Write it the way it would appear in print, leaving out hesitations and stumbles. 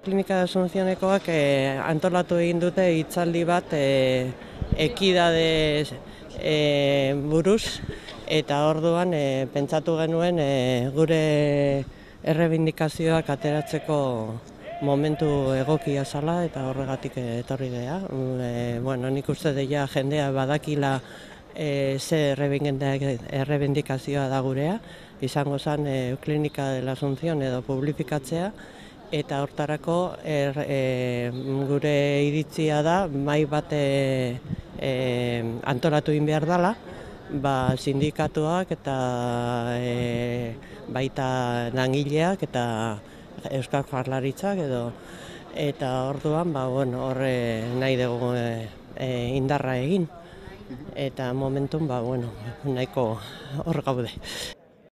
Klinika de Asunciónekoak antolatu egin dute hitzaldi bat ekidade buruz, eta orduan pentsatu genuen gure errebindikazioak ateratzeko momentu egokia zala, eta horregatik etorri geha. Nik uste deia jendea badakila ze errebindikazioa da gurea, izango zen Klinika de la Asunción edo publifikatzea, eta hortarako gure iritzia da mahai bat antolatu egin behar dela, sindikatuak eta baita langileak eta Euskal Jaurlaritzak eta orduan horre nahi dugu indarra egin, eta momentun nahiko hor gaude.